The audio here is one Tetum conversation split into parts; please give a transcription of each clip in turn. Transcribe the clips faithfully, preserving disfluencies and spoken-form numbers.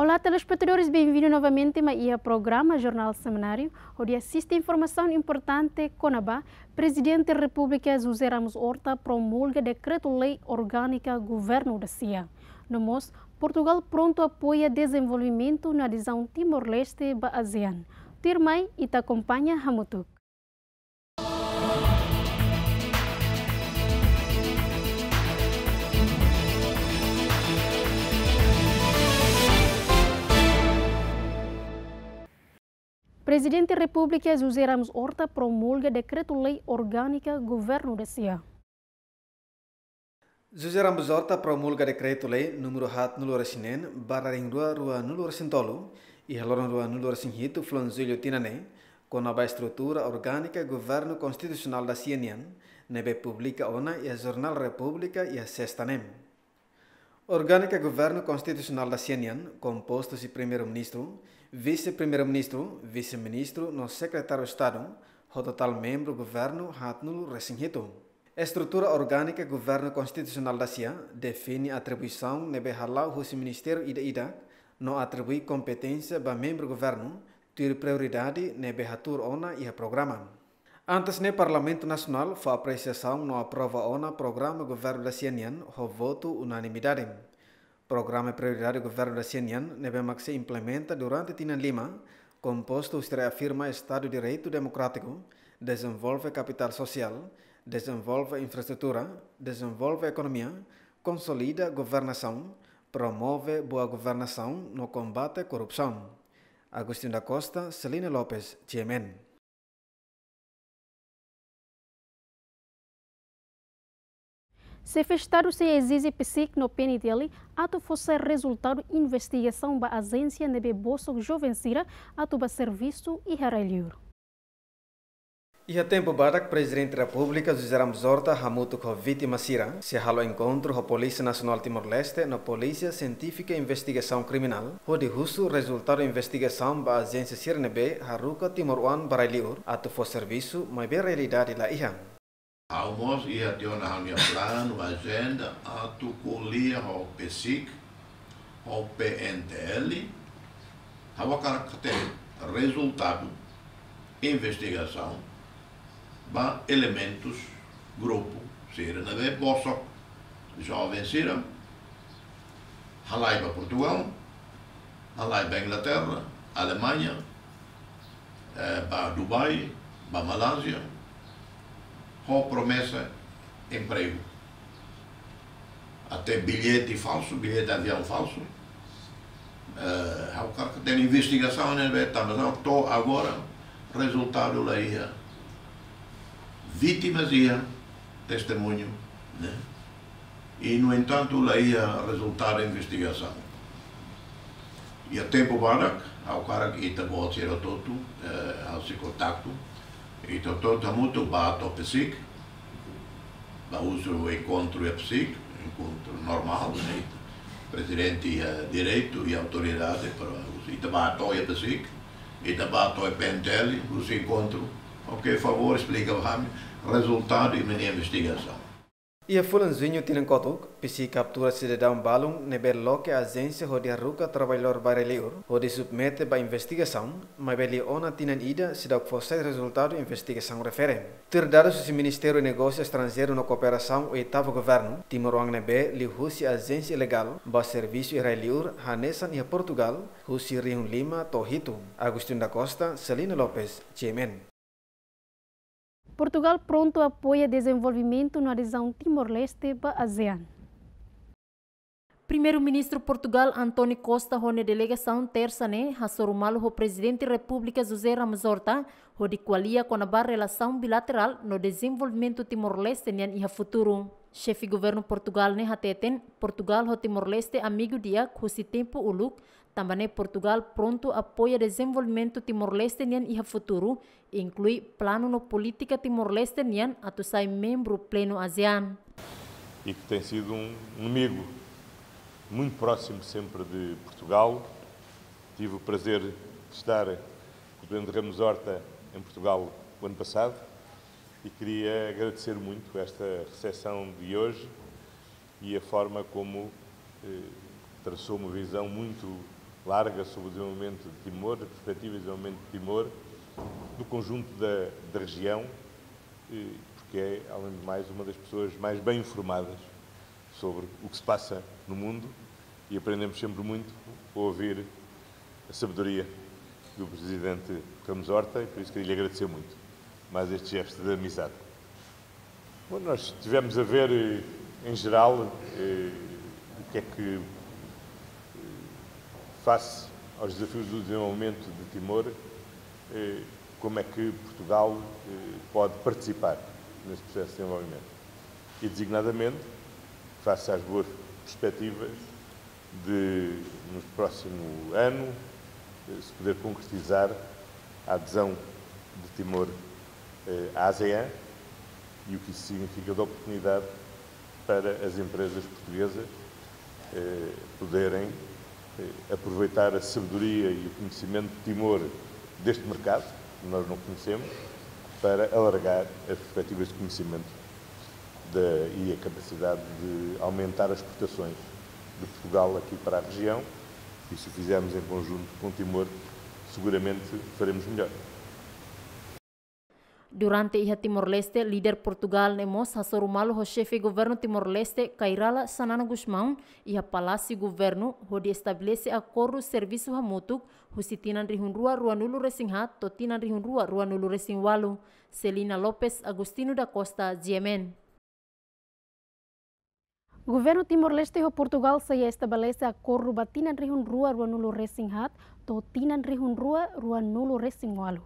Olá, telespetadores, bem-vindo novamente mai iha programa Jornál Semináriu, hodi asiste informasaun importante kona-ba Prezidente Repúblika José Ramos Horta promulga dekretu-lei orgánika Governu Dacia. No mós, Portugal prontu apoia dezenvolvimentu no adezaun Timor-Leste ba ASEAN. Tuirmai, ita akompaña hamutuk. Prezidente Repúblika José Ramos Horta promulga dekretu-lei orgánika Governu Dacia. José Ramos Horta promulga dekretu-lei númeru haatnulu-resin-neen barra rihun rua ruanulu-resin-tolu, iha loron ruanulu-resin-hitu fulan Jullu tinan ne'e, kona-ba estrutura orgánika Governu Konstitusionál Dacia nian, ne'ebé publika ona iha Jornál Repúblika iha Sesta ne'e. Orgánika Governu Konstitusionál Dacia nian kompostu husi Primeiru-Ministru, Vise-Primeiru-Ministru, Vise-Ministru no Sekretáriu Estadu, ho totál membru Governu haatnulu-resin-hitu. Estrutura orgánika Governu Konstitusionál Dacia define atribuisaun ne'ebé hala'o husi ministériu ida-idak no atribui kompeténsia ba membru Governu tuir prioridade ne'ebé hatuur ona iha programa. Antes ne'e Parlamentu Nasionál fó apresiasaun no aprova ona programa Governu Dacia nian ho votu unanimidade. Programa Prioridade Governu Dacia nian ne'ebé mak sei implementa durante tinan lima, kompostu husi reafirma Estadu Direitu Demokrátiku, dezenvolve kapitál sosiál, dezenvolve infraestrutura, dezenvolve ekonomia, konsolida governasaun, promove boa governasaun no kombate korrupsaun. Agostinho da Costa, Celina Lopes, G M N. Xefe Estadu sei ezije PCIC no P N T L atu fó sai rezultadu investigasaun ba ajénsia ne'ebé bosok joven sira atu bá servisu iha rai-liur. Iha tempu badak, Prezidente Repúblika José Ramos Horta hamutuk ho vítima sira sei halo enkontru ho Polísia Nasionál Timor-Leste no Polísia Sientífika Investigasaun Kriminál, hodi husu rezultadu investigasaun ba ajénsia sira ne'ebé haruka timoroan ba rai-liur atu fó servisu, maibé realidade la iha. Ha'u mós iha tiha ona ha'u-nia planu, ajenda, atu ko'alia ho PCIC, ho P N T L, ha'u hakarak hatene rezultadu investigasaun ba elementus, grupu sira ne'ebé bosok joven sira, halai ba Portugal, halai ba Inglaterra, Alemaña, eh, ba Dubai, ba Malázia, ho promesa empregu. Até billete falsu, billete aviaun falsu. Eh, ha'u hakarak hatene investigasaun ne'ebé, tanba to'o agora rezultadu la iha. Vítimas iha, testemuñu, ne'e? I, no entantu, la iha rezultadu investigasaun. Iha tempu badak, ha'u hakarak ita-boot sira hotu, eh, halo kontaktu, ita hotu hamutuk bá to'o PCIC, bá husu enkontru iha PCIC, enkontru normál, ne'e? Prezidente iha direitu i autoridade para husu. Ita bá to'o iha PCIC, ita bá to'o P N T L, husu enkontru. Ok, favór esplika ba ami rezultadu imi-nia investigasaun. Iha fulan Juñu tinan kotuk, PCIC kaptura sidadaun balun ne'ebé loke ajénsia hodi haruka traballadór ba rai-liur, hodi submete ba investigasaun, maibé liu ona tinan ida seidauk fó sai rezultadu investigasaun refere. Tuir dadus husi Ministériu Negósiu Estranjeiru no Kooperasaun, oitavu governu, timoroan ne'ebé liuhusi ajénsia ilegál bá servisu iha rai-liur hanesan iha Portugal, husi rihun lima to'o hitu. Agostinho da Costa, Celina Lopes, G M N. Portugal prontu apoia dezenvolvimentu no adezaun Timor-Leste ba ASEAN. Primeiru-Ministru Portugal António Costa ho nia delegasaun Tersa ne'e hasoru malu ho Prezidente Repúblika José Ramos Horta hodi ko'alia kona-ba relasaun bilaterál no dezenvolvimentu Timor-Leste nian iha futuru. Xefe Governu Portugal ne'e hateten, Portugal ho Timor-Leste amigu di'ak husi tempu uluk, tanba ne'e Portugal prontu apoia dezenvolvimentu Timor-Leste nian iha futuru, inklui planu no polítika Timor-Leste nian atu sai membru plenu ASEAN. E que tem sido um, um amigo muito próximo sempre de Portugal. Tive o prazer de estar com o Presidente Ramos Horta em Portugal o ano passado e queria agradecer muito esta recepção de hoje e a forma como, eh, traçou uma visão muito larga sobre o desenvolvimento de Timor, as perspectivas de desenvolvimento de Timor, do conjunto da, da região, eh, porque é, além de mais, uma das pessoas mais bem informadas sobre o que se passa no mundo e aprendemos sempre muito a ouvir a sabedoria do Presidente Ramos Horta e por isso queria lhe agradecer muito mais este gesto de amizade. Bom, nós tivemos a ver, eh, em geral, eh, o que é que, eh, face aos desafios do desenvolvimento de Timor, eh, como é que Portugal, eh, pode participar nesse processo de desenvolvimento. E, designadamente, face às boas perspectivas de, no próximo ano, eh, se poder concretizar a adesão de Timor, eh, à ASEAN, e o que isso significa de oportunidade para as empresas portuguesas, eh, poderem, eh, aproveitar a sabedoria e o conhecimento de Timor deste mercado, que nós não conhecemos, para alargar as perspectivas de conhecimento da, e a capacidade de aumentar as exportações de Portugal aqui para a região. E se o fizermos em conjunto com Timor, seguramente faremos melhor. Durante iha Timor-Leste, líder Portugal ne'e mós hasoru malu ho xefe governu Timor-Leste, Kay Rala Xanana Gusmão, iha Palásiu Governu, hodi estabelese akordu servisu hamutuk, husi tinan rihun rua ruanulu resin haat to'o tinan rihun rua ruanulu resin ualu. Celina Lopes, Agostinho da Costa, G M N. Governu Timor-Leste ho Portugal sei estabelese akordu ba tinan rihun rua ruanulu resin haat to'o tinan rihun rua ruanulu resin ualu.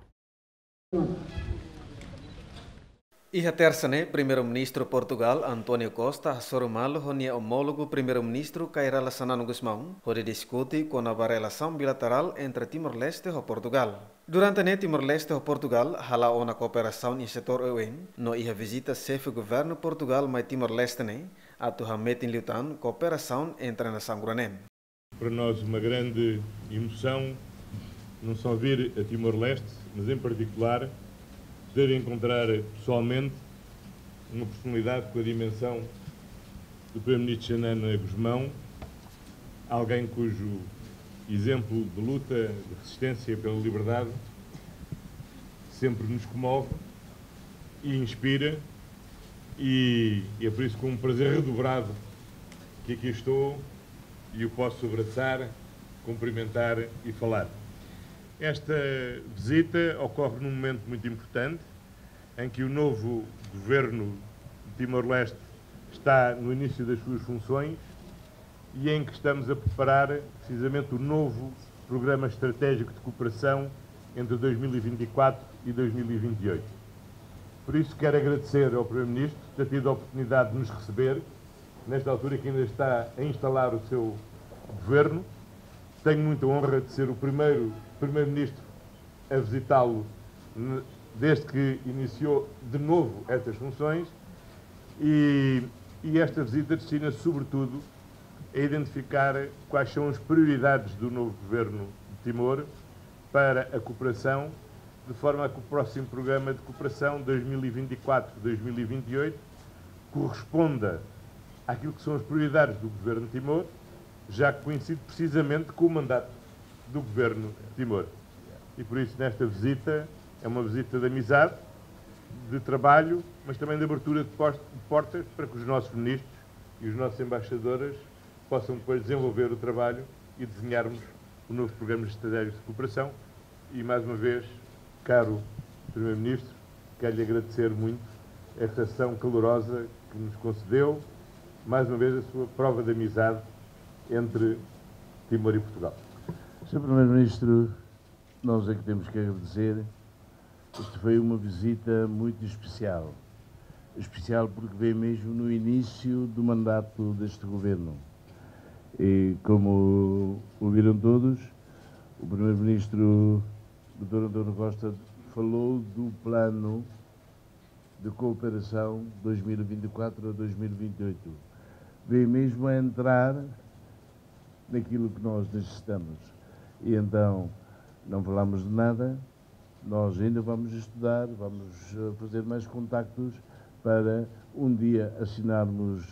Iha Tersa ne'e, Primeiru-Ministru Portugal, António Costa, hasoru malu ho nia omólogu Primeiru-Ministru Kay Rala Xanana Gusmão, hodi diskute kona-ba relasaun bilaterál entre Timor-Leste ho Portugal. Durante ne'e, Timor-Leste ho Portugal hala'o ona kooperasaun iha setór oioin, no iha vizita xefe governu Portugal mai Timor-Leste ne'e, atu hametin liután kooperasaun entre nasaun rua ne'e. Para nós uma grande emoção, não só vir a Timor-Leste, mas em particular poder encontrar pessoalmente uma personalidade com a dimensão do Primeiro-Ministro Xanana Gusmão, alguém cujo exemplo de luta, de resistência pela liberdade sempre nos comove e inspira, e é por isso com um prazer redobrado que aqui estou e o posso abraçar, cumprimentar e falar. Esta visita ocorre num momento muito importante, em que o novo governo de Timor-Leste está no início das suas funções e em que estamos a preparar precisamente o novo Programa Estratégico de Cooperação entre dois mil e vinte e quatro e dois mil e vinte e oito. Por isso, quero agradecer ao Primeiro-Ministro ter tido a oportunidade de nos receber, nesta altura que ainda está a instalar o seu governo. Tenho muita honra de ser o primeiro Primeiro-Ministro a visitá-lo ne-, desde que iniciou de novo estas funções e, e esta visita destina-se, sobretudo, a identificar quais são as prioridades do novo governo de Timor para a cooperação, de forma a que o próximo programa de cooperação dois mil e vinte e quatro, dois mil e vinte e oito corresponda àquilo que são as prioridades do governo de Timor, já que coincide precisamente com o mandato do governo de Timor. E por isso, nesta visita, é uma visita de amizade, de trabalho, mas também de abertura de pos-, de portas para que os nossos ministros e os nossos embaixadores possam depois desenvolver o trabalho e desenharmos o novo programa estratégico de cooperação. E, mais uma vez, caro Primeiro-Ministro, quero-lhe agradecer muito esta sessão calorosa que nos concedeu, mais uma vez a sua prova de amizade entre Timor e Portugal. Senhor Primeiro-Ministro, nós é que temos que agradecer. Esta foi uma visita muito especial. Especial porque veio mesmo no início do mandato deste governo. E, como ouviram todos, o Primeiro-Ministro, doutor António Costa, falou do plano de cooperação dois mil e vinte e quatro a dois mil e vinte e oito. Veio mesmo a entrar naquilo que nós necessitamos. E então, não falamos de nada, nós ainda vamos estudar, vamos, eh, fazer mais contactos para um dia assinarmos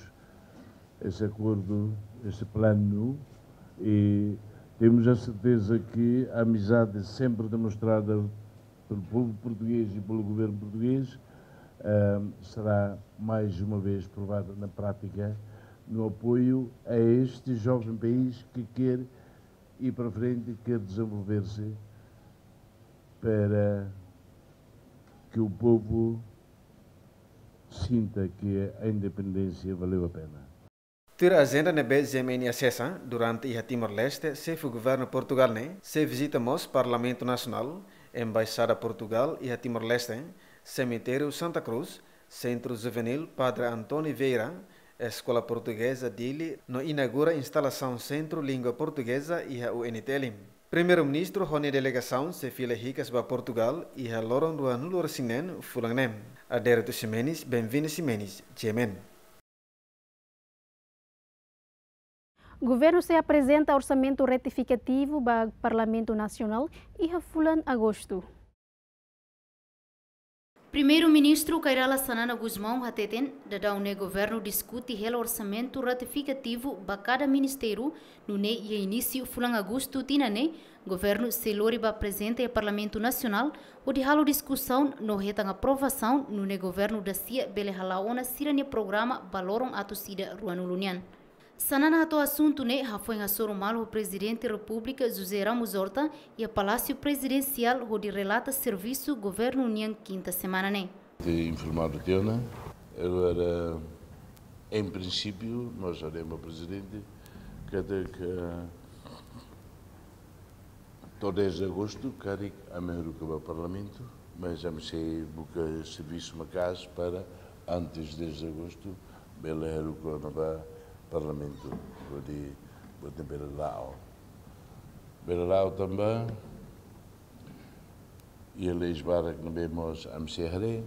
esse acordo, esse plano, e Temos a certeza que a amizade sempre demonstrada pelo povo português e pelo governo português, eh, será mais uma vez provada na prática no apoio a este jovem país que quer ir para frente, quer desenvolver-se para que o povo sinta que a independência valeu a pena. Tuir ajenda ne'ebé G M N asesa, durante iha Timor-Leste, Xefe Governu Portugál ne'e sei vizita mós Parlamentu Nasionál, Embaixada Portugál iha Timor-Leste, Semitériu Santa Cruz, Sentru Juvenil Padre António Vieira, Eskola Portugeza Dili, no inaugura instalasaun Sentru Língua Portugeza iha U N T L. Primeiru-Ministru ho nia delegasaun sei fila hikas ba Portugál iha loron ruanulu-resin-neen fulan ne'e. Adérito Ximenes, Benvinda Ximenes, G M N. Governu sei aprezenta orsamentu retifikativu ba Parlamentu Nasionál iha fulan Agostu. Primeiru-Ministru Kay Rala Xanana Gusmão hateten, daudaun ne'e governu diskute hela orsamentu retifikativu ba kada ministériu, nune'e iha inísiu fulan Agostu tinan ne'e, governu sei lori ba aprezenta iha Parlamentu Nasionál, hodi halo diskusaun no hetan aprovasaun, nune'e governu dasia bele hala'o ona sira-nia programa ba loron atus ida ruanulu nian. Xanana hato'o asuntu ne'e hafoin hasoru malu ho Prezidente Repúblika José Ramos Horta iha Palásiu Prezidensiál hodi relata servisu governu nian kinta semana ne'e. Te informadu tiha ona, agora, em princípio, nós haremos, Presidente, que até que to'o dez de agostu, karik ami haruka ba Parlamentu, mas ami sei buka servisu maka'as para antes dez de agostu, bele haruka ona ba Parlamentu, hodi, hodi bele la'o. Bele la'o tanba, iha leis barak ne'ebé mós ami sei haree,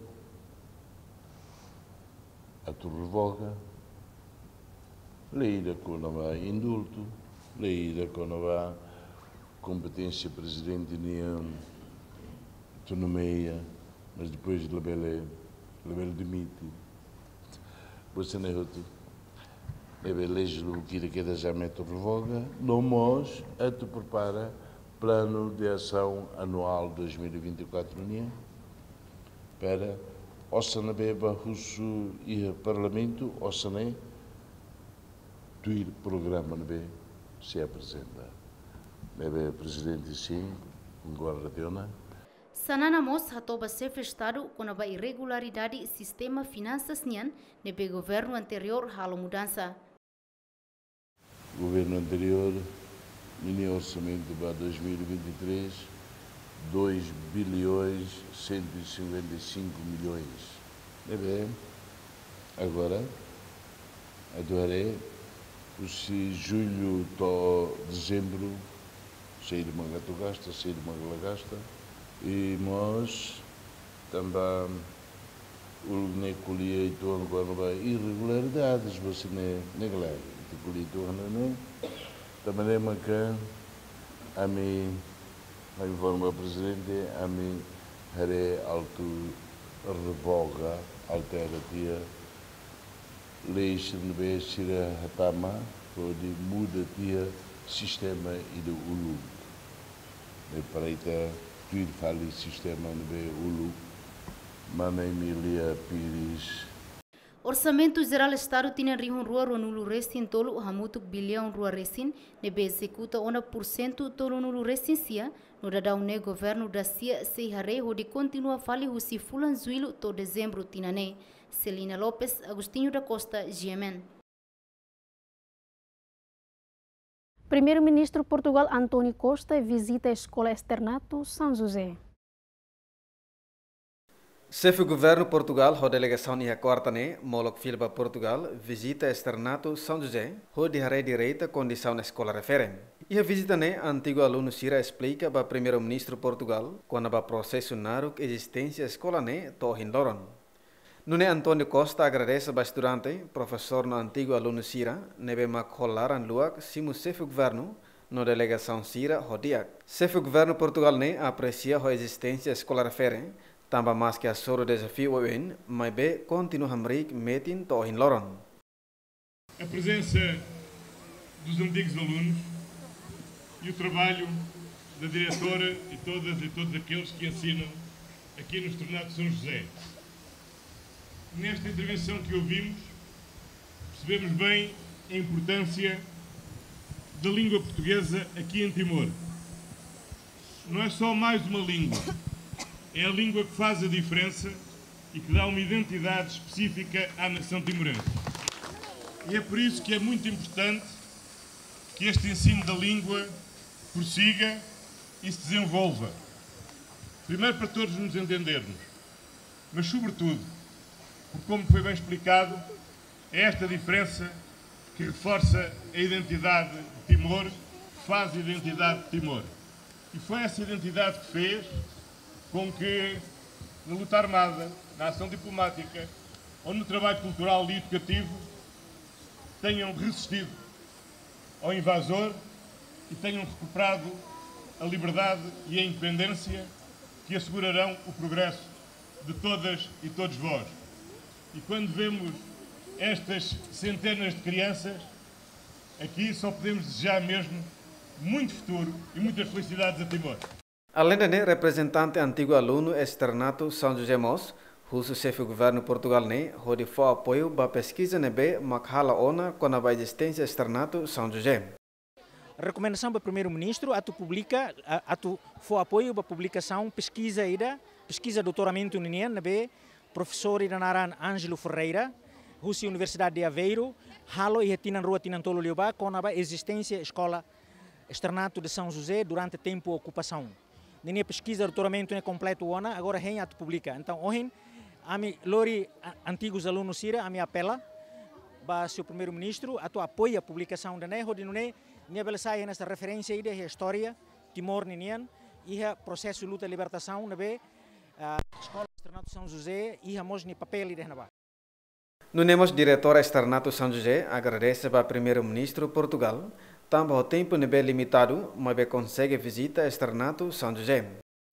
atu revoga, lei ida kona-ba indultu, lei ida kona-ba kompeténsia prezidente nian atu nomeia, mas depois labele, labele demite. Buat sira-ne'e hotu. Ne'ebé leis lubuk ida kedas ami atu revoga, no mós atu prepara plano de ação anual dois mil e vinte e quatro nian, para osan ne'ebé bá husu iha Parlamentu, osan ne'e tuir programa ne'ebé sei aprezenta. Ne'ebé Prezidente, sin, konkorda tiha ona. Xanana mós hato'o ba Xefe Estadu kona-ba irregularidade sistema finansas nian, ne'ebé governu anteriór halo mudansa. Governu anteriór, ninia orsamentu ba dois mil e vinte e três, dois bilhões cento e cinquenta e cinco milhões. Ne'ebé, agora, atu haree, husi jullu to'o dezembru, saida mak atu gasta, saida mak la gasta, i mós tanba uluk ne'e ko'alia uitoan kona-ba irregularidades, buat sira-ne'e, ne'e klaru, ita ko'alia uitoan ne'e, tanba ne'e maka ami, ami informa Prezidente, ami haree atu revoga, altera tiha leis ne'ebé sira hatama, hodi muda tiha sistema ida uluk. Ne'e para ita tuir fali sistema ne'ebé uluk, mana Emília Pires. Orsamentu Jerál Estadu tinan rihun rua ruanulu-resin-tolu hamutuk biliaun rua resin, ne'ebé ezekuta ona pursentu tolunulu-resin-sia, no daudaun ne'e governu dasia sei haree hodi kontinua fali husi fulan Jullu to'o Dezembru tinan ne'e. Celina Lopes, Agostinho da Costa, G M N. Primeiru-Ministru Portugál António Costa vizita Eskola Externato São José. Xefe Governu Portugál ho delegasaun iha kuarta ne'e molok fila ba Portugál vizita Externato São José, hodi haree direta kondisaun eskola refere. Iha vizita ne'e, antigu alunu sira esplika ba Primeiru-Ministru Portugál kona-ba prosesu naruk ezisténsia eskola ne'e to'o ohin loron. Nune'e António Costa agradese ba estudante, profesór no antigu alunu sira ne'ebé mak ho laran luak simu Xefe Governu no delegasaun sira ho di'ak. Xefe Governu Portugál ne'e apresia ho ezisténsia eskola refere, tanba maski hasoru dezafiu oioin, maibé kontinua hamriik metin to'o ohin loron. A presença dos antigos alunos. E o trabalho da diretora e todas e todos aqueles que ensinam aqui no Externato São José. Nesta intervenção que ouvimos, percebemos bem a importância da língua portuguesa aqui em Timor. Não é só mais uma língua, é a língua que faz a diferença e que dá uma identidade específica à nação timorense. E é por isso que é muito importante que este ensino da língua prossiga e se desenvolva. Primeiro, para todos nos entendermos, mas, sobretudo, porque, como foi bem explicado, é esta diferença que reforça a identidade de Timor, que faz a identidade de Timor. E foi essa identidade que fez com que, na luta armada, na ação diplomática ou no trabalho cultural e educativo, tenham resistido ao invasor e tenham recuperado a liberdade e a independência que assegurarão o progresso de todas e todos vós. E quando vemos estas centenas de crianças aqui, só podemos desejar mesmo muito futuro e muitas felicidades a Timor. Além de ne'e, reprezentante antigu alunu Externato São José mós husu Xefe Governu Portugál ne'e hodi fó apoiu ba peskiza ne'ebé mak halo ona kona-ba ezisténsia Externato São José. Rekomendasaun ba Primeiru-Ministru atu publika, a-, atu fó apoiu ba publikasaun peskiza ida, peskiza doutoramentu ninian, ne'ebé profesór ida naran Ângelo Ferreira, husi Universidade de Aveiro, halo iha tinan rua tinan tolu liubá, kona-ba ezisténsia eskola Externato de São José durante tempu okupasaun. Ninia peskiza doutoramentu ne'e kompletu ona, agora hein atu publika. Entaun, ohin, ami lori a-, antigus alunu sira, ami apela ba señór Primeiru-Ministru atu apoia publikasaun ida-ne'e, hodi nune'e nia bele sai hanesan referénsia ida iha istória Timor ninian, iha prosesu luta libertasaun ne'ebé, ah, Eskola Externato São José iha mós nia papél ida iha ne'ebá. Nune'e mós Diretora Externato São José agradese ba Primeiru-Ministru Portugál, tanba ho tempu ne'ebé limitadu, maibé konsege vizita Externato São José.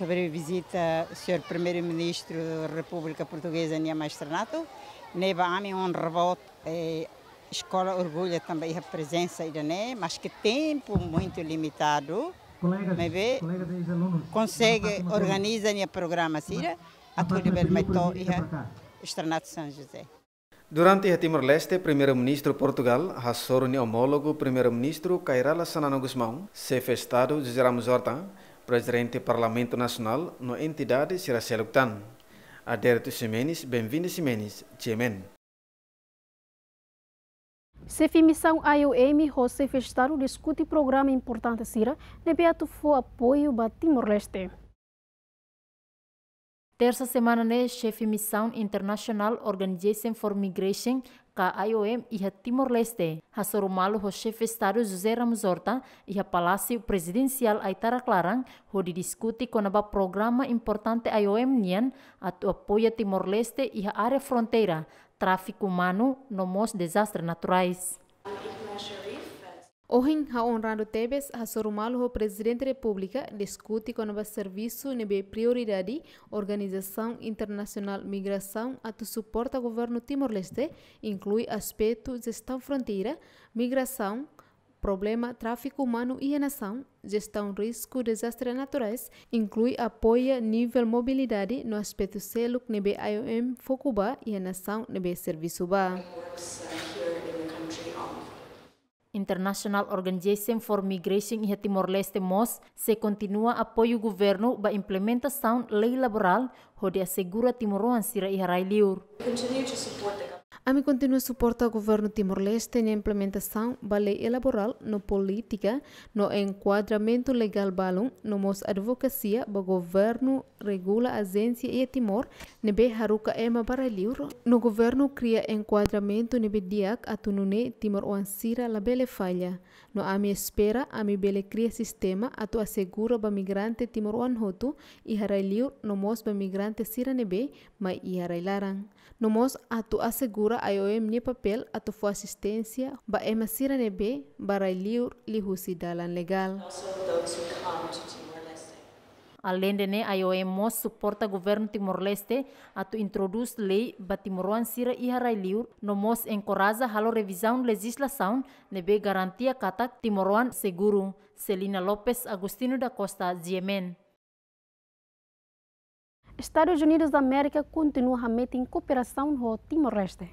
Sobre vizita señór Primeiru-Ministru Repúblika Portugeza nian mai Externato, ne'e ba ami onra boot, eh, eskola orgullu tanba iha prezensa ida-ne'e, maske tempu muitu limitadu, maibé konsege organiza nia programa sira, atu hodi bele mai to'o iha Externato São José. Durante iha Timor-Leste, Primeiru-Ministru Portugál hasoru nia omólogu Primeiru-Ministru Kay Rala Xanana Gusmão, Xefe Estadu José Ramos Horta, Prezidente Parlamentu Nasionál no entidade sira seluk tan. Adérito Ximenes, Benvinda Ximenes, G M N. Xefe misaun I O M ho Xefe Estadu diskute programa importante sira ne'ebé atu fó apoiu ba Timor-Leste. Tersa semana ne'e, Xefe Misaun International Organization for Migration, ka I O M, iha Timor-Leste, hasoru malu ho Xefe Estadu José Ramos Horta iha Palásiu Prezidensiál Aitarak-Laran, hodi diskute kona-ba programa importante I O M nian atu apoia Timor-Leste iha área fronteira, tráfiku umanu no mós dezastre naturais. Ohin ha'u onradu tebes hasoru malu ho Prezidente Repúblika diskute kona-ba servisu ne'ebé prioridade Organizasaun Internasionál Migrasaun atu suporta Governu Timor-Leste, inklui aspetu jestaun fronteira, migrasaun, problema tráfiku umanu iha nasaun, jestaun risku dezastre naturais, inklui apoia nivel mobilidade no aspetu seluk ne'ebé I O M foku ba iha nasaun ne'ebé servisu ba. International Organization for Migration iha Timor-Leste mós sei kontinua apoiu governu ba implementasaun lei laborál hodi asegura timoroan sira iha rai-liur. Continue to support the government. Ami kontinua suporta Governu Timor-Leste nia implementasaun ba lei laborál no polítika no enkuadramentu legál balun, no mós advokasia ba governu regula ajénsia iha Timor ne'ebé haruka ema ba rai-liur, no governu kria enkuadramentu ne'ebé di'ak atu nune'e timoroan sira labele falla. No ami espera ami bele kria sistema atu asegura ba migrante timoroan hotu iha rai-liur no mós ba migrante sira ne'ebé mai iha rai-laran. No mós atu asegura I O M nia papél atu fó asisténsia ba ema sira ne'ebé ba rai-liur liuhusi dalan legál. Also those who come to Timor-Leste. Aleinde ne'e, I O M mós suporta governu Timor-Leste atu introdús lei ba timoroan sira iha rai-liur, no mós enkoraja halo revizaun lejizlasaun ne'ebé garantia katak timoroan seguru. Celina Lopes, Agostinho da Costa, G M N. Estadus Unidus Amérika kontinua hametin kooperasaun ho Timor-Leste.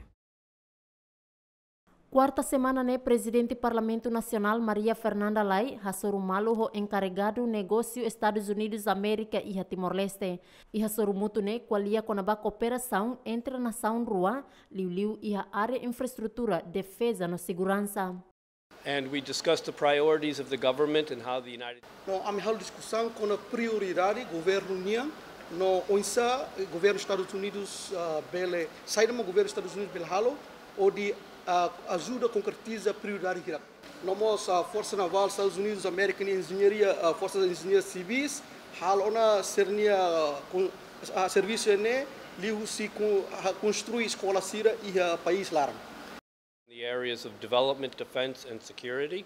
Kuarta semana ne'e, Prezidente Parlamentu Nasionál Maria Fernanda Lay hasoru malu ho enkaregadu negósiu Estadus Unidus Amérika iha Timor-Leste. Iha sorumutu ne'e ko'alia kona-ba kooperasaun entre nasaun rua, liuliu iha área infraestrutura, defeza no seguransa. And we discussed the priorities of the government and how the United No, ami halo diskusaun kona-ba prioridade governu nian, no oinsá, eh, governu Estadus Unidus, ah, bele, saida mak governu Estadus Unidus bele halo hodi, ah, ajuda konkretiza prioridade hirak. No mós, ah, Forsa Navál Estadus Unidus Amérika nia enjeñaria, ah, Forsa Enjeñeiru Sivis, halo ona sira-nia, ah, kon-, ah, servisu ne'e liuhusi kon-, ah, konstrui eskola sira iha país laran. The areas of development, defense, and security.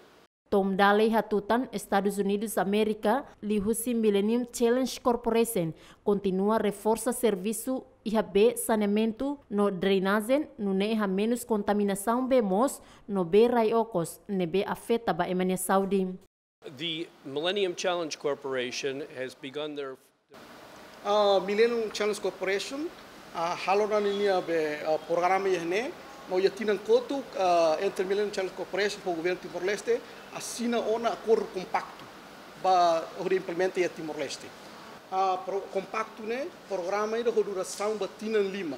Tom Daley hatutan, Estadus Unidus Amérika, liuhusi Millennium Challenge Corporation, kontinua reforsa servisu iha bee saneamentu no drenajen, nune'e hamenus kontaminasaun bee moos no bee rai-okos ne'ebé afeta ba ema nia saúde. The Millennium Challenge Corporation has begun their Ah, Millennium Challenge Corporation, ah, halo ona ninia be, ah, programa iha ne'e, no iha tinan kotuk, ah, entre Millennium Challenge Corporation ho governu Timor-Leste, asina ona akordu kompaktu ba hodi implementa iha Timor-Leste. Ah, pro-, kompaktu ne'e, programa ida ho durasaun ba tinan lima.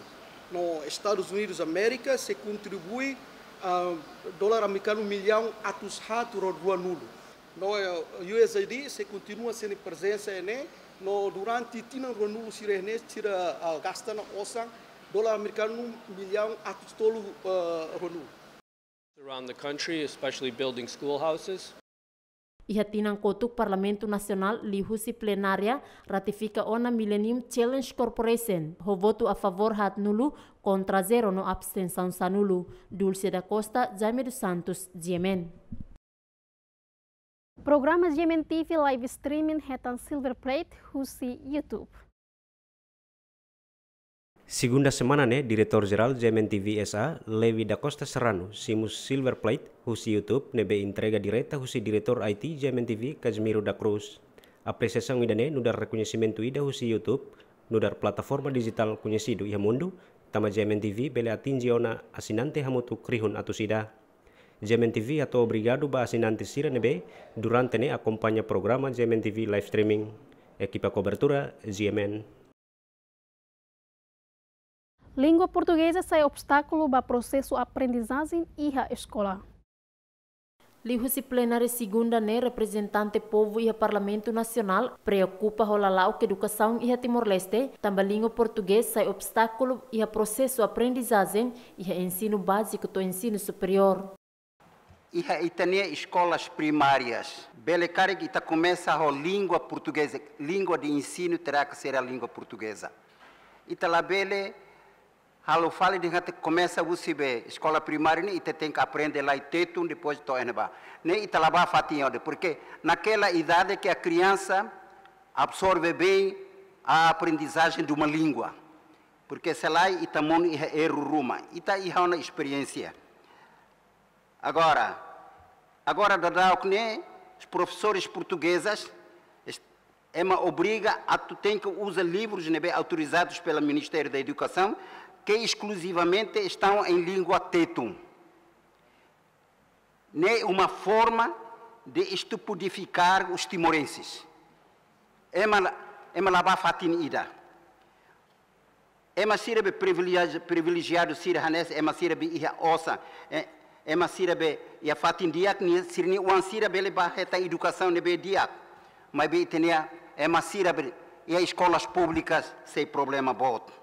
No Estadus Unidus Amérika sei kontribui, ah, dolar amerikanu millaun atus haat rua-nulu. No, eh, U S A I D sei kontinua sira-nia prezensa iha ne'e, no durante tinan rua-nulu sira iha ne'e, sira, ah, gasta ona osan dolar amerikanu millaun atus tolu, eh, rua-nulu. Around the country, especially building schoolhouses. Iha tinan kotuk Parlamentu Nasionál liuhusi plenária ratifika ona Millennium Challenge Corporation, ho votu a favór haatnulu, kontra zero no abstensaun sanulu. Dulce da Costa, Jaime dos Santos, G M N. Programa G M N T V live streaming hetan silver plate husi YouTube. Segunda semana ne'e, Diretór Jerál G M N T V S A, Levi da Costa Serrano, simu silver plate husi YouTube ne'ebé entrega direta husi Diretór I T G M N T V, Casimiro da Cruz. Apresiasaun ida-ne'e nu'udar rekoñesimentu ida husi YouTube, nu'udar plataforma dijitál koñesidu iha mundu, tanba G M N T V bele atinje ona asinante hamutuk rihun atus ida. G M N T V hato'o obrigadu ba asinante sira ne'ebé durante ne'e akompaña programa G M N T V live streaming. Ekipa kobertura, G M N. Língua portugeza sai obstákulu ba prosesu aprendizajen iha eskola. Liuhusi plenária segunda ne'e, reprezentante povu iha Parlamentu Nasionál preokupa ho lala'ok edukasaun iha Timor-Leste, tanba língua portugés sai obstákulu iha prosesu aprendizajen iha ensinu báziku to'o ensinu superiór. Iha ita-nia eskolas primárias, bele karik ita komesa ho língua portugeza, língua de ensino terá que ser a língua portuguesa. Ita labele halo fali dehan katak komesa husi be eskola primária ne'e ita tenke aprende lai Tetun, depois to'o iha-ne'ebá. Ne'e ita la bá fatin ida, porque naquela idade que a criança absorve bem a aprendizagem de uma língua. Porque se lae ita monu iha erru ruma, ita iha ona esperiénsia. Agora, agora daudauk ne'e, os professores portuguesas, est-, ema obriga atu tenke uza livrus ne'ebé autorizados pelo Ministério da Educação, que exclusivamente estão em língua Tetun. Ne'e uma forma de estupidificar os timorenses. Ema la, ema la bá fatin ida. Ema sira be privileji-, privilejiadu sira hanesan, ema sira be iha osan, eh, ema sira be iha fatin di'ak, nia sira-nia oan sira bele bá hetan edukasaun ne'ebé di'ak. Maibé ita-nia ema sira be iha eskolas públikas sei problema boot.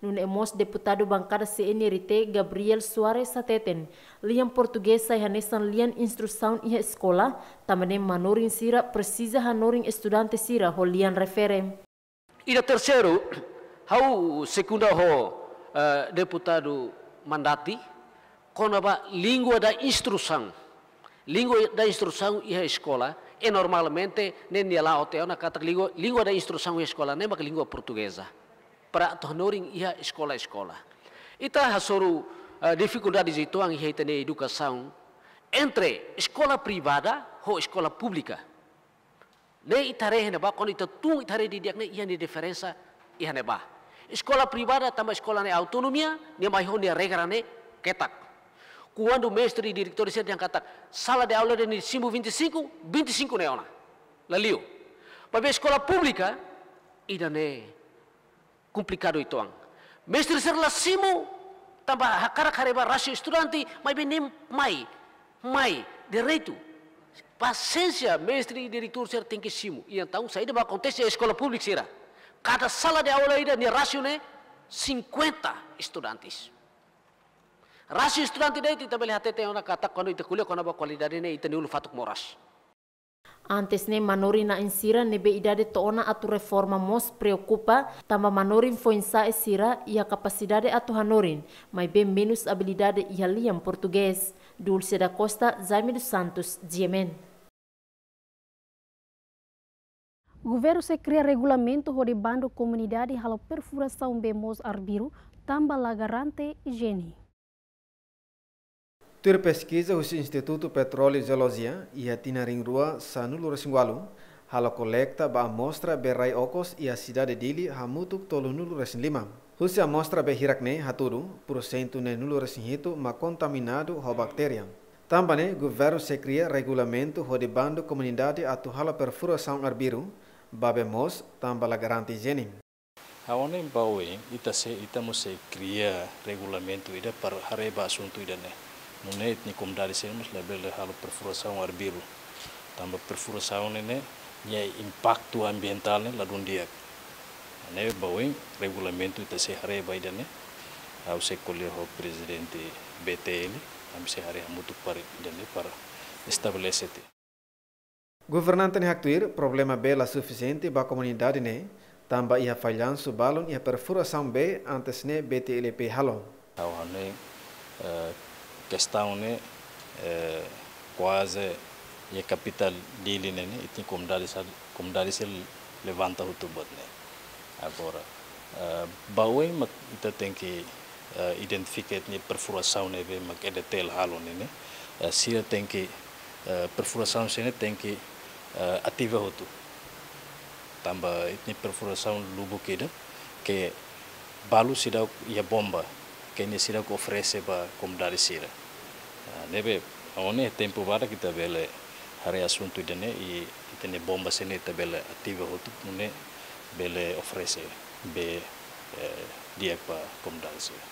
Nune'e mós deputadu bankada C N R T, Gabriel Soares hateten, lian portugés sai hanesan lian instrusaun iha eskola, tanba ne'e manorin sira presiza hanorin estudante sira ho lian refere. Ida terseiru, ha'u sekunda ho, eh, deputadu Mandati, kona-ba língua da instrusaun. Língua da instrusaun iha eskola, E normalmente ne'e nia la'o tiha ona katak língua, língua de instrusaun iha eskola ne'e mak língua portugeza. Para atu hanorin iha eskola-eskola. Ita hasoru, eh, difikuldade uitoan iha ita-nia edukasaun entre eskola privada ho eskola públika. Ne'e ita haree iha ne'ebá, kuandu ita tun ita haree didi'ak ne'e iha nia diferensa iha ne'ebá. Eskola privada tanba eskola ne'e autonomia, nia mai ho nia regra ne'e ketak. Kuandu mestre i diretór sira dehan katak sala de aula ida-ne'e simu vinte e cinco, vinte e cinco ne'e ona. La liu. Maibé eskola públika, ida-ne'e komplikadu uitoan. Mestre sira la simu, tanba hakarak haree ba rasio estudante, maibé ne'e mai, mai, direitu. Pasiénsia, mestre i diretór sira tenke simu. I entaun, saida mak akontese iha eskola públika sira. Kada sala de aula ida nia rasio ne'e cinquenta estudantes. Rasio estudante de'it ita bele hatete ona katak kuandu ita ko'alia kona-ba kualidade ne'e ita-nia ulun fatuk moras. Antes ne'e manorin na'in sira ne'ebé idade to'o ona atu reforma mós preokupa, tanba manorin foin-sa'e sira iha kapasidade atu hanorin, maibé menus abilidade iha lian portugés. Dulce da Costa, Jaime dos Santos, G M N. Governu sei kria regulamentu hodi bandu komunidade halo perfurasaun bee moos arbiru, tanba la garante ijiene. Tuir peskiza husi Institutu Petróleu i Jeolojia, iha tinan rihun rua sanulu-resin-ualu, halo kolekta ba amostra bee rai okos iha sidade Dili hamutuk tolunulu-resin-lima. Husi amostra bee hirak ne'e hatudu, pursentu neenulu-resin-hitu mak kontaminadu ho baktéria. Tanba ne'e, governu sei kria regulamentu hodi bandu komunidade atu halo perfurasaun arbiru ba bee moos, tanba la garante ijiene. Ha'u hanoin ba oin, ita sei, ita mós sei kria regulamentu ida para haree ba asuntu ida-ne'e. Nune'e ita-nia komunidade sira mós labele halo perfurasaun arbiru. Tanba perfurasaun ne'e, ne'e, nia impaktu ambientál ne'e ladún di'ak. Ne'e ba oin regulamentu ita sei haree ba ida-ne'e. Ha'u sei ko'alia ho prezidente B T L, ami sei haree hamutuk para ida-ne'e para estabelese tiha. Governante ne'e haktuir, problema bee la sufisiente ba komunidade ne'e, tanba iha fallansu balun iha perfurasaun bee antes ne'e B T L P halo. Ha'u hanoin, eh, kestaun ne'e, eh, kuaze iha kapitál Dili ne'e, ne'e, ita-nia komunidade sa-, komunidade sira levanta hotu buat ne'e. Agora, eh, ba oin mak ita tenke, eh, identifika ita-nia perfurasaun ne'ebé mak E D T L halo ne'e, ne'e. Eh, sira tenke, eh, perfurasaun sira-ne'e tenke, eh, ativa hotu. Tanba ita-nia perfurasaun lubuk ida, ke balu seidauk iha bomba, ke nia seidauk oferese ba komunidade sira. Ah, ne'ebé, agora ne'e tempu badak ita bele haree asuntu ida-ne'e, i ita-nia bomba sira-ne'e ita bele ativa hotu, nune'e bele oferese bee, eh, di'ak ba komunidade sira.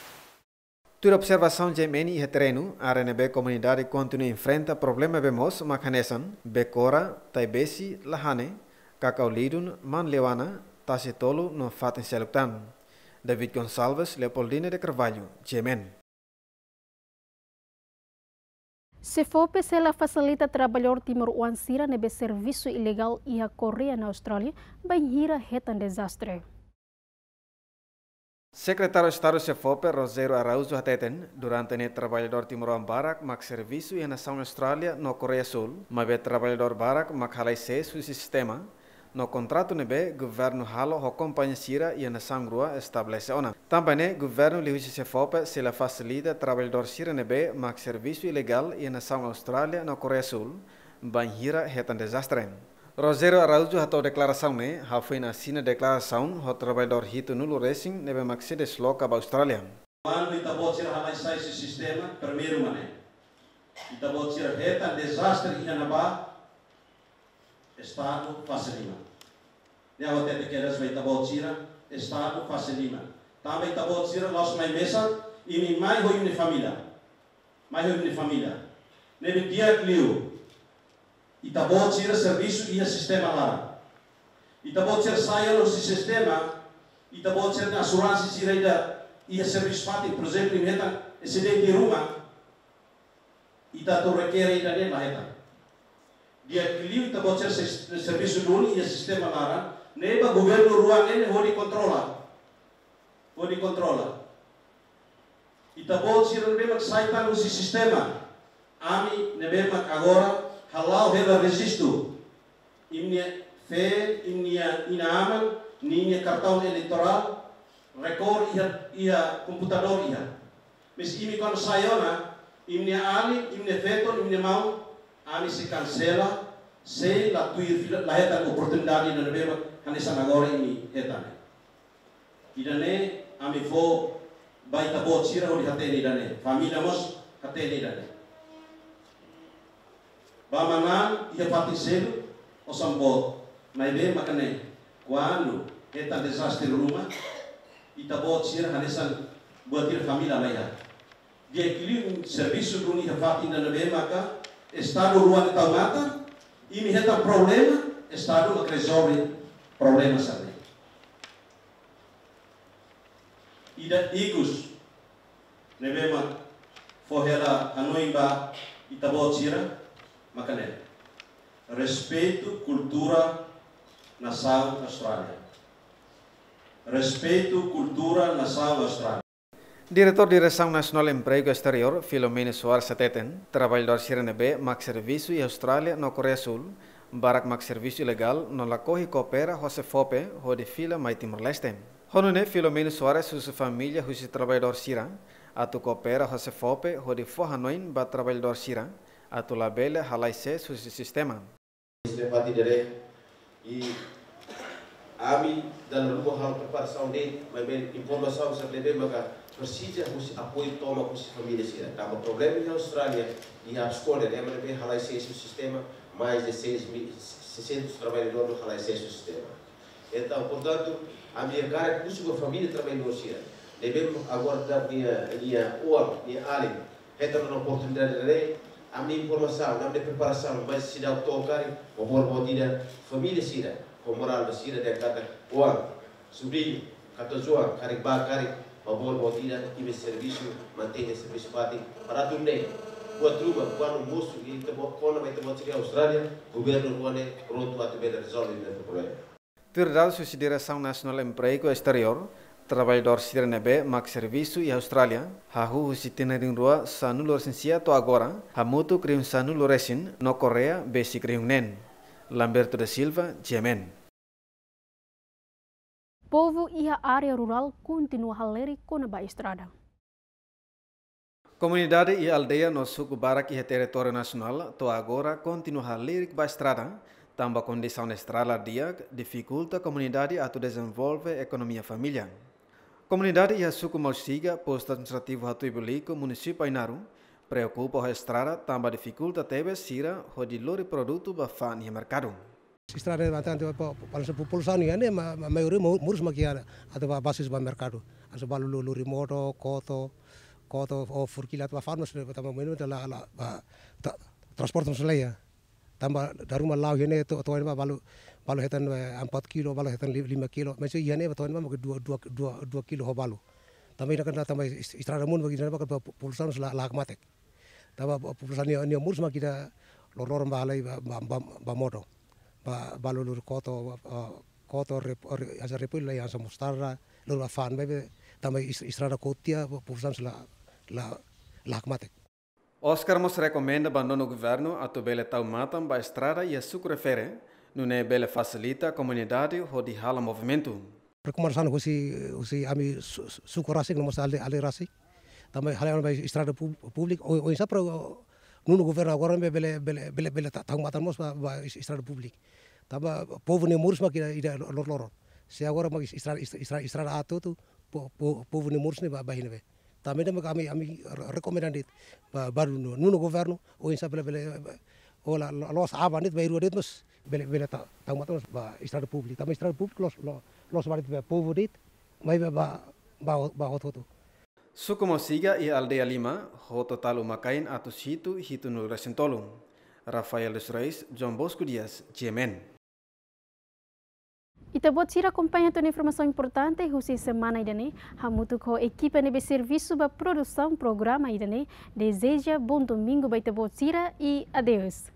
Tuir observasaun G M N iha terrenu, área ne'ebé komunidade kontinua enfrenta problema bee moos mak hanesan Bekora, Taibesi, Lahane, Kakau Lidun, Man Leuana, Tasi Tolu no fatin seluk tan. David Gonçalves, Leopoldina de Carvalho, G M N. SEFOPE sei la fasilita traballadór timoroan sira ne'ebé servisu ilegál iha Koreia no Austrália, bainhira hetan dezastre. Sekretáriu Estadu SEFOPE, Rogério Araújo hateten, durante ne'e traballadór timoroan barak mak servisu iha nasaun Austrália no Koreia Súl, maibé traballadór barak mak halai sees husi sistema, no kontratu ne'ebé governu halo ho kompañia sira iha nasaun rua estabelese ona. Tanba ne'e, governu liuhusi SEFOPE sei la fasilita traballadór sira ne'ebé mak servisu ilegál iha nasaun Austrália no Koreia Súl, bainhira hetan dezastre. Rogério Araújo hato'o deklarasaun ne'e, hafoin asina deklarasaun ho traballadór hitunulu-resin ne'ebé mak sei desloka ba Austrália. Kuandu ita-boot sira halai sai husi sistema, primeiru mak ne'e. Ita-boot sira hetan dezastre iha ne'ebá, Estadu fase liman. Ne'e ha'u hatete kedas ba ita-boot sira, Estadu fase liman. Tanba ita-boot sira la'ós mai mesak, imi mai ho imi-nia família. Mai ho imi-nia família. Ne'ebé di'ak liu. Ita-boot sira servisu iha sistema laran. Ita-boot sira sai husi sistema, ita-boot sira-nia asuransi sira ida iha servisu fatin, por ezemplu, imi hetan asidente iha ruma, ita atu rekere ida-ne'e la hetan. Di'ak liu ita-boot sira se-, servisu duni iha sistema laran, ne'ebé governu rua ne'e hodi kontrola. Hodi kontrola. Ita-boot sira ne'ebé mak sai tan husi sistema. Ami ne'ebé mak agora hala'o hela rejistu. Imi-nia feen, imi-nia inan-aman ninia kartaun eleitorál, rekor iha, iha komputadór iha. Maibé imi kuandu sai ona, imi-nia alin, imi-nia feton, imi-nia maun, ami sei kansela, sei la tuir fila, la hetan oportunidade ida ne'ebé mak hanesan agora imi hetan. Ida-ne'e ami fó ba ita-boot sira hodi hatene ida-ne'e. Família mós hatene ida-ne'e. Ba manán iha fatin seluk, osan boot. Maibé maka ne'e, kuandu hetan dezastre ruma, ita-boot sira hanesan buat ida família la iha. Di'ak liu servisu duni iha fatin ida ne'ebé maka Estadu rua ne'e tau matan, imi hetan problema, Estadu mak rezolve problema sira-ne'e. Ida ikus ne'ebé mak fó hela hanoin ba ita-boot sira maka ne'e. Respeitu kultura nasaun Austrália. Respeitu kultura nasaun Austrália. Diretór Diresaun Nasionál Empregu Esteriór, Filomeno Soares hateten, traballadór sira ne'ebé mak servisu iha Austrália no Koreia Súl, barak mak servisu ilegál no lakohi koopera ho SEFOPE hodi fila mai Timor-Leste. Ho nune'e Filomeno Soares husu família husi traballadór sira atu koopera ho SEFOPE hodi fó hanoin ba traballadór sira atu labele halai sees husi sistema. Sira fatin ida-ne'e, i ami dala ruma halo preparasaun de'it, maibé informasaun sira ne'ebé maka presiza husi apoiu tomak husi família sira. Tanba problema iha Austrália, iha Abscond, ema ne'ebé halai sees husi sistema, mais de seis mil, seiscentos traballadór halai sees husi sistema. Entaun, portantu, ami hakarak husu ba família traballadór sira ne'ebé agora daudaun nia, nia oan, nia alin hetan ona oportunidade ne'e, ami informasaun, ami preparasaun, mai seidauk to'o karik, favór boot ida, família sira, ho morál ba sira dehan katak, oan, subriñu, katorze oan, karik bá karik, favór boot ida, imi servisu, mantein servisu fatin, para atu nune'e, buat ruma, kuandu mosu, ita-boot, kona-ba ita-boot sira Austrália, governu rua ne'e, prontu atu bele rezolve ita-nia problema. Tuir dadus husi Diresaun Nasionál Empregu Esteriór, traballadór sira ne'ebé mak servisu iha Austrália, hahú husi tinan rihun rua sanulu-resin-sia to'o agora, hamutuk rihun sanulu-resin, no Koreia besik rihun neen. Lamberto da Silva, G M N. Povu iha área rurál kontinua halerik kona-ba estrada. Komunidade iha aldeia no suku barak iha territóriu nasionál to'o agora kontinua halerik ba estrada, tanba kondisaun estrada la di'ak difikulta komunidade atu dezenvolve ekonomia família. Komunidade iha suku Mausiga, postu administrativu Hatuibolico, munisípiu Ainaro, preokupa ho estrada tanba difikulta tebes sira hodi lori produtu ba fa'an iha merkadu. Estrada ne'e bastante, pa, pa, pa, populasaun nian ne'e ma, ma, maioria mo-, moris mak iha, atu bá basis ba merkadu. Hanesan balu lo-, lori modo, koto, koto, ou furkila atu bá fa'an mós ne'e, tanba maioria la, la, ba, ta-, transporte mós la iha. Tanba dala ruma la'o iha ne'e to'o, to'o iha ne'ebá balu, balu hetan, eh, empat kilo, balu hetan li-, lima kilo. Maibé iha ne'e to'o iha ne'ebá mungkin dua, dua, dua, dua kilo ho balu. Tanba iha ne'e kan tanba es-, estrada monu bagi iha ne'ebá kan populasaun la, la hakmatek. Tanba populasaun nia, nia moris mak ida loroloron bá halai ba, ba, ba, ba modo. Ba, balu lori koto, ba, ba, koto rep-, re-, hanesan repollu, hanesan mostarda, lori bá fa'an, maibé tanba es-, estrada kotu tiha, populasaun la, la, la hakmatek. Oscar mós rekomenda ba nonu governu atu bele tau matan ba estrada iha suku refere, nune'e bele fasilita komunidade hodi hala'o movimentu. Rekomendasaun husi, husi ami su-, su-, suku rasik no mós aldeia, aldeia rasik. Tanba halerik ba estrada pub-, públiku, o, oinsá para, o, nonu governu agora ne'e bele, bele, bele, bele ta-, tau matan mós ba, ba es-, estrada públiku. Tanba povu nia moris mak ida, ida loroloron. Se agora mak es-, estrada, es-, estrada, estrada aat hotu, po-, po-, povu nia moris ne'e bá, bá iha ne'ebé. Tanba ne'e mak ami, ami re-, rekomenda de'it ba, ba nonu, nonu governu, oinsá bele, bele, o la, la, la'ós aban de'it, bainrua de'it mós, bele, bele ta-, tau matan mós ba estrada públiku. Tanba estrada públiku loos, lo-, loos ba de'it ba povu de'it, maibé ba, ba, ba hotu-hotu. Suku Mausiga iha aldeia lima, ho totál uma-kain atus hitu, hitunulu-resin-tolu. Rafael dos Reis, João Bosco Dias, G M N. Ita-boot sira akompaña tiha ona informasaun importante husi semana ida-ne'e, hamutuk ho ekipa ne'ebé servisu ba produsaun programa ida-ne'e, dezeja bom domingo ba ita-boot sira i adeus.